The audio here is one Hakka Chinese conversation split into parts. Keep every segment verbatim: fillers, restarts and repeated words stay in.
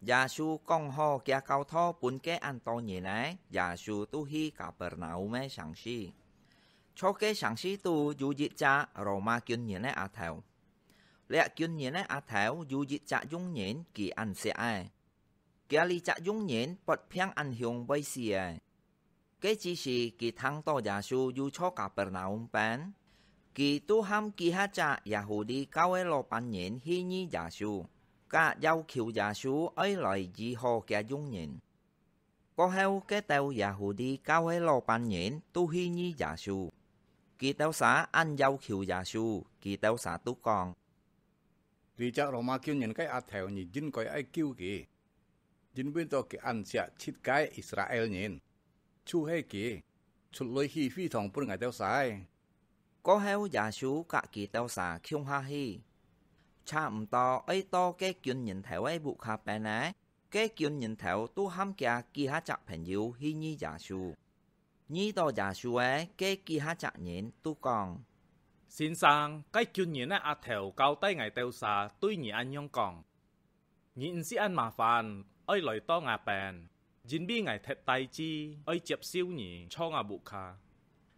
耶穌講好佢教導分該恁多人仔，耶穌就去Kapernaum个城市。在該城市肚有一隻羅馬軍人个阿頭。這軍人个阿頭有一隻佣人，佢恁惜个。佢這隻佣人發病恁凶會死个。 該之時，佢聽到耶穌有在Kapernaum邊，佢就喊幾下隻Yahudi教个老闆人去遇耶穌，佮要求耶穌愛來醫好厥佣人。過後，該兜Yahudi教个老闆人就去遇耶穌，佢兜儕恁要求耶穌，佢兜儕就講：「這隻羅馬軍人个阿頭，你應該愛救佢，因為到佢恁惜自家个Israel人。」 就係佢，出來起非堂分𠊎兜儕。過後，耶穌佮佢兜儕共下去，差毋多愛到該軍人頭个屋下邊仔，該軍人頭就喊厥幾下隻朋友去遇耶穌。遇到耶穌个該幾下隻人就講：「先生，該軍人个阿頭交代𠊎兜儕對你恁樣講： 你毋使恁麻煩，愛來到吾邊，因為𠊎忒大志愛接受你在吾屋下。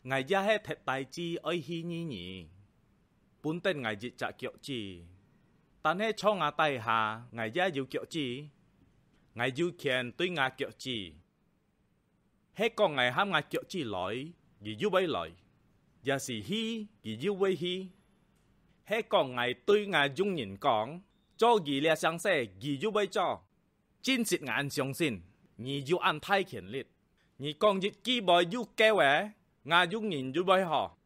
𠊎也係忒大志愛去遇你，分等𠊎一隻腳趾。但係在吾底下，𠊎也有腳趾，𠊎有權對吾腳趾。 係講𠊎喊吾腳趾來，佢又會來；也係去，佢又會去。係講𠊎對吾佣人講： 做佢這聲勢，佢又會做。真實𠊎恁相信，你有恁大權力，你講一句話又夠了，吾佣人又會好。」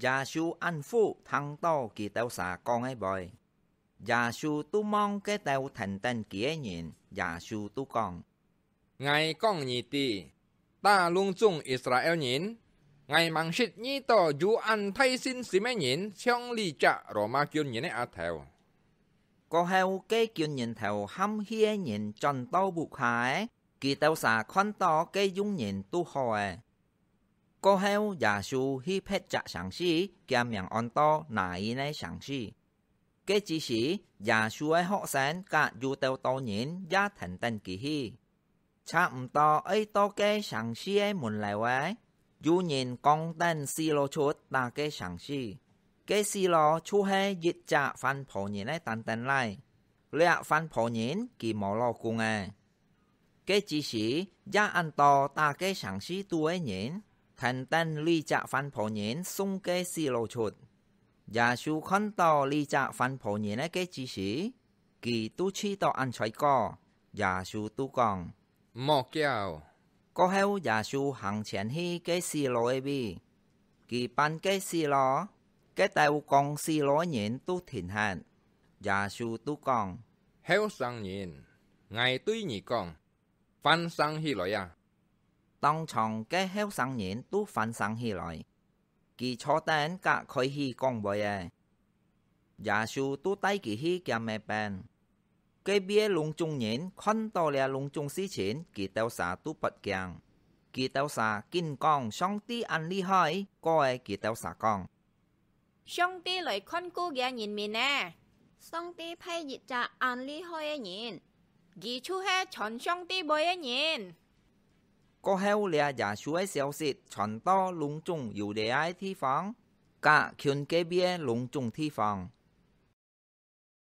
耶穌恁服聽到佢兜儕講个話，耶穌就望該兜跈等佢个人，耶穌就講： 「𠊎講你知，打攏總Israel人，𠊎吂識遇到有恁大信心个人像這隻羅馬軍人个阿頭。」過後，該軍人頭喊去个人轉到屋下了，佢兜儕看到該佣人就好了。 過後，耶穌去別隻城市，厥名安到拿因个城市。該之時，耶穌个學生佮有兜多人也跈等佢去。差毋多愛到該城市个門樓了，有人扛等細路出打該城市。該細路就係一隻販婆人个單單倈，這販婆人佢無老公了。 該之時，也恁多打該城市肚个人，跈等這隻販婆人送該細路出。耶穌看到這隻販婆人个該之時，佢就氣到恁衰過，耶穌就講：「毋好噭。」過後，耶穌行前去該細路个位，佢扳該細路，該兜扛細路个人就停忒。耶穌就講： 「後生人，𠊎對你講，翻生起來啊！」當場該後生人就翻生起來，佢坐等甲開始講話了。耶穌就帶佢去厥姆邊。該位个攏總人看到這攏總事情，佢兜儕都發驚。佢兜儕緊講：「上帝恁厲害！」過个佢兜儕講： 「上帝來看顧厥人民呢！上帝派一隻恁厲害个人，佢就係傳上帝話个人！」過後，這耶穌个消息傳到攏總Yudea个地方，甲近該位个攏總地方，